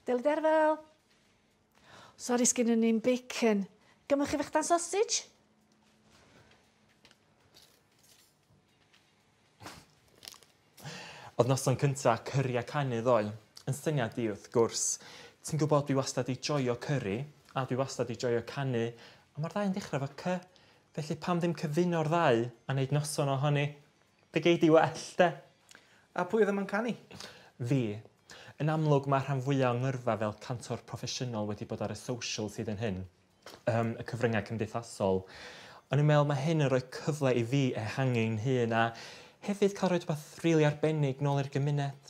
Deli Derfel. Sori, sgynnon ni'm bacon. Gymrwch chi fechdan sausage? Oedd noson cynta cyri a canu ddoe, yn syniad i wrth gwrs. Ti'n gwybod dwi wastad 'di joio cyri, a dwi wastad 'di joio canu, a mae'r ddau yn dechrau efo C. Felly pam ddim cyfuno'r ddau a neud noson ohoni? Be gei di well, de? A pwy oedd yma'n canu? Fi. Yn amlwg mae rhan fwyaf o ngyrfa fel cantor proffesiynol wedi bod ar y socials hyd yn hyn. Y cyfryngau cymdeithasol. O'n i'n meddwl mae hyn yn rhoi cyfle i fi ehangu'n hun a hefyd cael rhoi rhywbeth rili arbennig nôl i'r gymuned.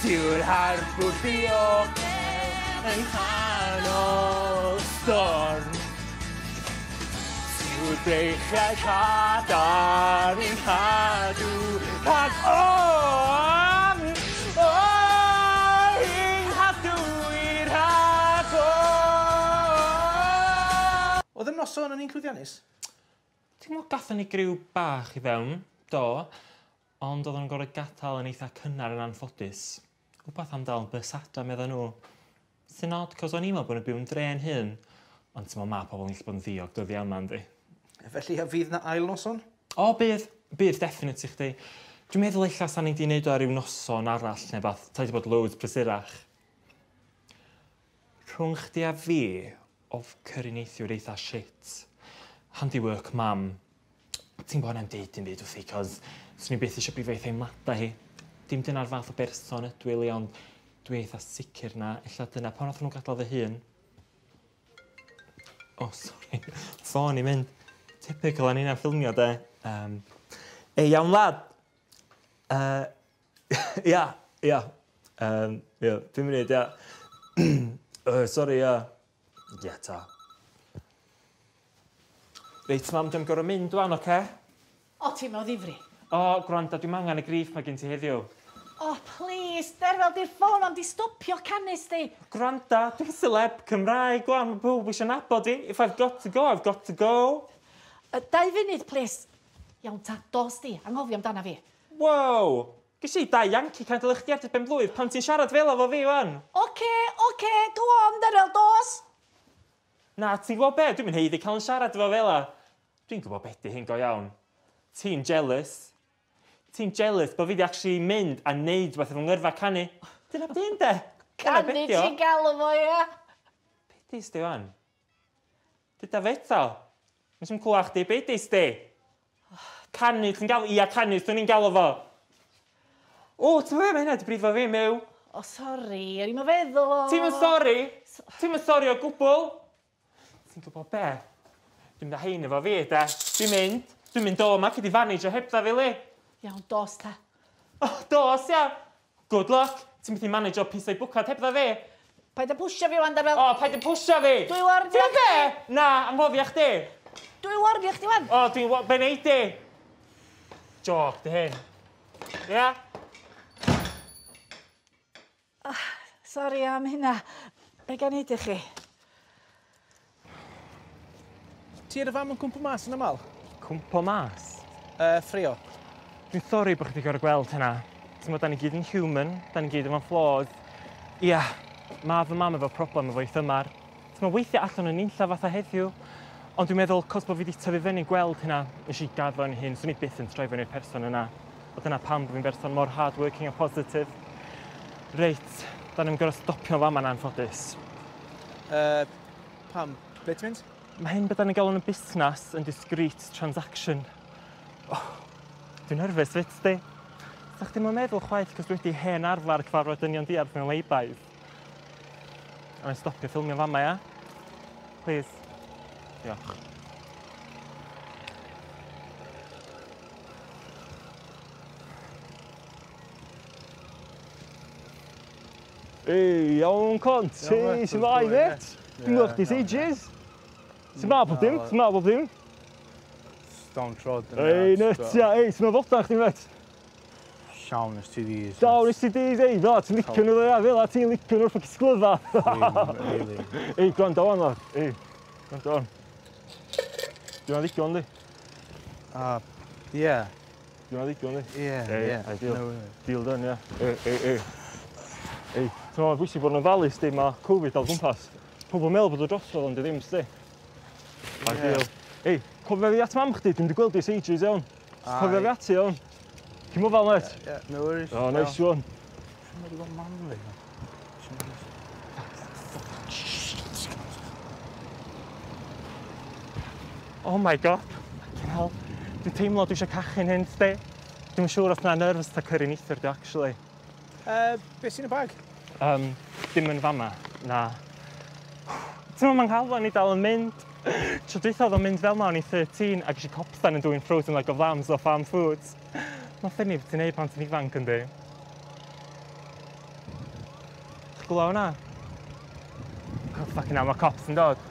Tiw'r harbwr diogel yng nghanol storm. Tiw'r breichiau cadarn i'n cadw rhag ofn. O, i'n cadw i rhag ofn. Oedd y noson yn un llwyddiannus? Ti'n gwybod, gathon ni griw bach i fewn, do, ond oedden nhw'n gorfod gadael yn eitha cynnar yn anffodus. Wbath am dal bus adra, medda nhw. Sy'n odd, cos o'n i'n meddwl bod nhw'n byw yn dre'n hyn. Ond ti'n meddwl, ma pobl yn gallu bod yn ddiog dyddiau yma, yndi? Felly, a fydd na ail noson? O, bydd. Bydd, definite i chdi. Dwi'n meddwl ella sa'n ni 'di neud o ar ryw noson arall neu bath. Ta 'di bod loads prysurach. Rhwng chdi a fi, oedd cyri neithiwr eitha shit. Handiwork mam. Ti'n gwybod na'm deud dim byd wrthi, cos swn i byth eisiau brifo ei theimladau hi. Dim dyna'r fath o berson ydw i, ond dwi eitha sicr na, ella dyna pan nath nhw gadael fy hun. Oh, sorry. Ffôn i mynd. Typical o'n i'n ffilmio, de. Ei, iawn, lad? Ia, ia. Ia, 5 munud, ia. Sorry, ia. Ia, ta. Reit, mam, dwi'n gorfod mynd wan, oce? O, ti'n mewn ddifri? O, gwrando, dwi'n angen y griff mae gen ti heddiw. O, please, Derfel, di'r ffôn ond di stopio canu sti. Gwranda, dwi'n celeb Cymraeg, gwan, mae pawb eisiau nabod i. If I've got to go, I've got to go. 2 funud, please. Iawn ta, dos di, anghofio amdana fi. Wow! Ges i 2 Yankee candle i chdi ar dy ben blwydd pan ti'n siarad fel efo fi, wan. Oce, go on, Derfel, dos. Na, ti'n gwybod be? Dwi'n mynd haeddu cael yn siarad efo fel 'a. Dwi'n gwybod be di hyn go iawn. Ti'n jealous. Ti'n jealous bod fi di actually mynd a neud rhywbeth efo ngyrfa canu. Dyna beth de. Canu ti'n galw fo, ia? Be di sti wan? Dyda fe eto. Nes i'm clywed chdi, be di sti? Canu, ti'n galw, ia canu, swn i'n galw fo. O, ti'n meddwl, mae hynna di brifo fi, Miw. O, sori, o'n i'm yn feddwl o. Ti'm yn sori? Ti'm yn sori o gwbl? Ti'n gwybod be? Dwi'n mynd â hein efo fi, de. Dwi'n mynd o yma, cyd i fanage o hebdda fi, li. Iawn, dos ta. O, dos, ia. Good luck. Ti'n mynd i manage o pisau bwcad hebdda fi. Paid â pwsio fi, wan, Derfel. O, paid â pwsio fi. Dwi warnio Ti'n be? Na, anghofio chdi. Dwi warnio chdi, wan. O, dwi'n be neud di? Joc, di hyn. Ia? Oh, sori am hynna. Be gan neud i chi? Ti ar y fam yn cwmpo mas yn aml? Cwmpo mas? Ffrio. Dwi'n sori bod chdi gorfod gweld hynna. Ti'n gwybod, da ni gyd yn human, da ni gyd efo flaws. Ia, mae fy mam efo problem efo'i thymar. Ti'n gwybod, weithiau allan o'n unlla fatha heddiw. Ond dwi'n meddwl, cos bod fi wedi tyfu fyny gweld hynna, nes i gaddo yn hyn, swn i byth yn troi fyny i'r person yna. A dyna pam bod fi'n berson mor hard-working a positive. Reit, da ni'n gorfod stopio fama yn anffodus. Pam? Ble ti'n mynd? Mae hyn beth da ni'n galw yn y busnes yn discreet transaction. Oh, dwi'n nerfus fyd, sti. Sa chdi'm yn meddwl chwaith, cos dwi wedi hen arfer cyfarfod dynion diarth mewn laybys. A mae'n stopio ffilmio fama, ia? Please. Diolch. Ei, iawn, cont. Ei, sy'n fai, mate? Dwi'n gweld chdi ages. Sy'n ma pob dim? Sy'n ma pob dim? Down trod. Ei, nuts, ia. Ei, sy'n ma fodan chdi, mate? Llawn STDs. Llawn STDs, ei, fel ti'n licio nhw, ia, fel ti'n licio nhw'r ffocin sglyfa. Really. Ei, gwrando wan, lad. Ei, gwrando wan. Dwi'n licio yndi? Ie. Dwi'n licio yndi? Ie, ie. Ideal. No way. Deal done, ia. Ei, ei, ei. Ei, ti'n meddwl, bwysig bod yn ofalus, di, mae Covid al gwmpas. Pobl yn meddwl bod o drosodd, ond di ddim, sti. Ideal. Ei, cofio fi at mam chdi, dwi'n di gweld di ers ages, iawn. Cofio fi ati, iawn. Ti'n mobile, mate? Yeah, no worries. Oh, nice one. Si'n wedi gweld mam fi. Oh my God. Fucking hell. Dwi'n teimlo dwi eisiau cachu'n hyn, sti. Dwi'm yn siŵr os na nerves ta curry neithiwr di, actually. Be sy'n y bag? Dim yn fama, na. Ti'n meddwl mae'n nghalon i dal yn mynd? Tro dwytha oedd o'n mynd fel ma o'n i 13 ac eisiau copstan yn dwyn frozen leg of lambs o Farm Foods. Mae'n ffynnu beth ti'n neud pan ti'n ifanc yndi. Ti'n gwybod hwnna? Oh, fucking hell, mae cops yn dod.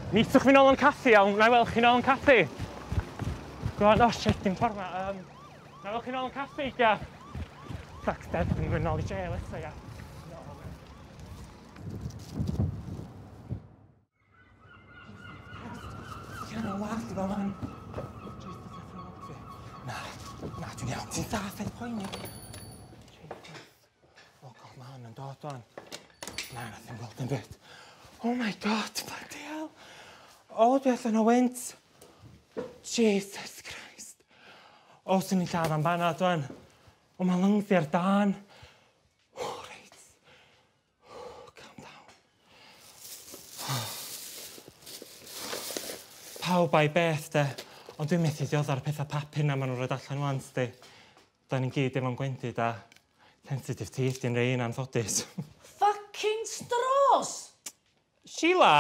Meetwch fi nôl yn caffi, iawn. Na i weld chi nôl yn caffi. Go on, oh shit, dim ffordd ma. Na i weld chi nôl yn caffi, ia. Fuck, dead, dwi'n mynd nôl i jail eto, ia. Na, na, dwi'n iawn. Ti'n saff, paid poeni. Oh God, mae hwn yn dod o'n. Na, na, ddim gweld dim byd. Oh my God, bloody hell. O, dwi allan o wynt. Jesus Christ. O, swn i'n lladd am banad o'n. O, mae lungs i ar dân. O, reit. O, calm down. Pawb a'i beth, de. Ond dwi'n methu dioddau'r pethau papur na maen nhw'n rhoi allan wan, sti. Da ni'n gyd efo'n gwendid a sensitive teeth di'n rei yn anffodus. Fucking straws! Sheila!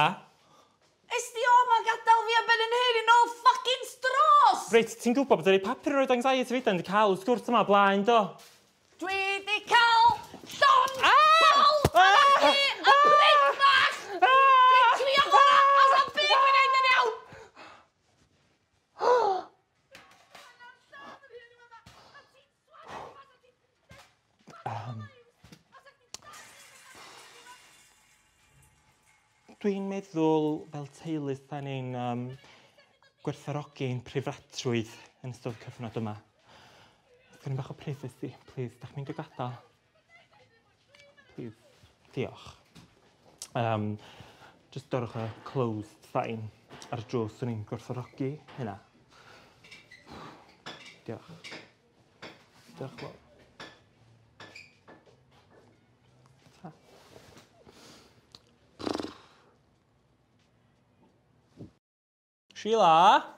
Esti o ma'n gadael fi am ben yn hyn i nôl fucking straws! Reit, ti'n gwybod bod yr ei papur yn rhoi anxiety fi, dan di cael y sgwrs yma blaen, do? Dwi di cael llond bol a chi a prick bach! Dwi'n trio hwnna, os am byd dwi'n neud yn iawn! Dwi'n meddwl fel teulu da ni'n gwerthfawrogi ein preifatrwydd yn ystod y cyfnod yma. Os gawn ni bach o privacy, please, dach chi'n mynd i gadael? Please, diolch. Just dorwch y closed sign ar y drws, swn i'n gwerthfawrogi hynna. Diolch. Diolch fawr. Ta. Sheila?